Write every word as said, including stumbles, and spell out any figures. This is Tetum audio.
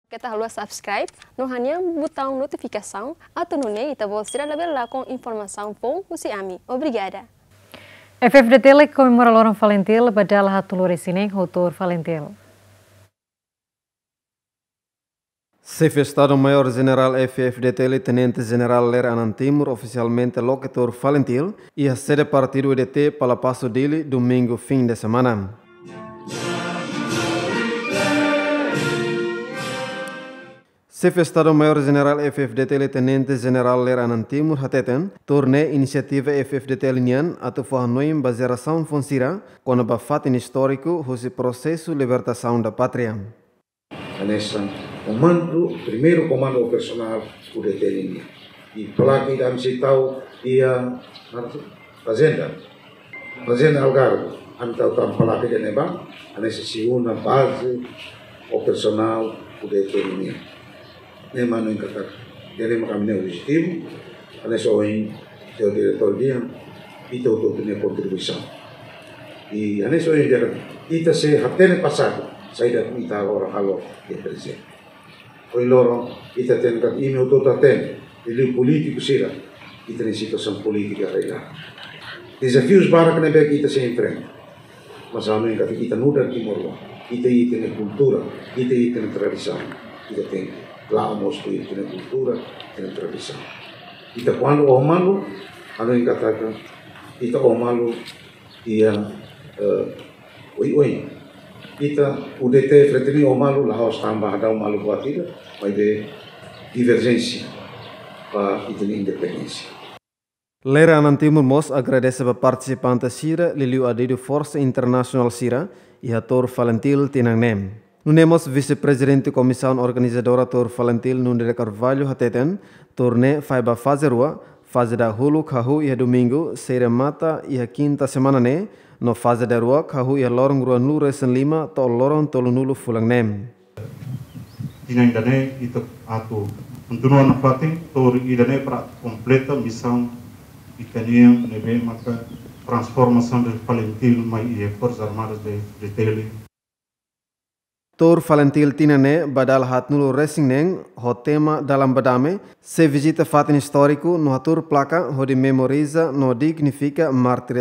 Keta haluha subscribe no hanehan butaun notifikasaun atu nune'e ita-boot sira labele lakon informasaun foun husi ami. Obrigada. F-FDTL komemora loron FALINTIL ba dala haatnulu-resin-neen ho Tuur FALINTIL. Xefe Estadu-Maiór Jenerál F-FDTL Tenente Jenerál Lere Anan Timur ofisialmente loke Tuur FALINTIL iha sede partidu U D T, Palapaso, Dili, domingu fim de semana. Xefe Estadu-Maiór Jenerál F-FDTL Tenente Jenerál Lere Anan Timur hateten, tuur ne'e inisiativa F-FDTL nian atu fó hanoin ba jerasaun foun sira kona-ba fatin istóriku husi prosesu libertasaun da pátria. Hanesan komandu, primeiru komandu operasionál U D T nian. I placa ida ami sei tau iha, fazenda. Fazenda Algarve. Ami tau tan placa ida ne'ebá, hanesan segunda baze operasionál U D T nian. Ne'e mak ami hakarak. Jadi mak ami-nia objetivu, hanesan ohin señór diretór dehan, ita hotu-hotu nia kontribuisaun. I hanesan ohin dehan, ita sei hatene pasadu, saida mak ita halo, halo iha prezente. Ohin loron, ita tenke, imi hotu-hotu hatene, liuliu polítiku sira, ita-nia situasaun polítika rai laran. Dezafius barak ne'ebé ke ita sei enfrenta. Mas ami hakarak ita nu'udar timoroan, ita iha ita-nia kultura, ita iha ita-nia tradisaun, ita tenke la'o mós ho ita-nia kultura, ita-nia tradisaun. Ita kuandu oho malu, ami hakarak ita oho malu iha, eh, oioin. Ita U D T FRETILIN oho malu la'ós tanba hadau malu buat ida, maibé diverjénsia ba ita-nia independénsia. Lere Anan Timur mós agradese ba partisipante sira, liuliu adidu forsa internasionál sira iha Tuur FALINTIL tinan ne'e. Nune'e mós Vise-Prezidente Komisaun Organizadora Tuur FALINTIL, Nuno de Carvalho, hateten, tuur ne'e fahe ba faze rua, faze dahuluk hahú iha domingu, sei remata iha kinta semana ne'e, no faze daruak hahú iha loron ruanulu-resin-lima to'o loron tolunulu fulan ne'e. Tinan ida-ne'e ita atu kontinua nafatin, tuur ida-ne'e para atu kompleta misaun ita-nian ne'ebé maka transformasaun de FALINTIL mai iha Forsas Armadas de, de Dili. Tuur FALINTIL tinan ne'e ba dala haatnulu-resin-neen ho tema Dalan ba Dame, sei vizita fatin istóriku no hatuur placa hodi memoriza no dignifika mártires.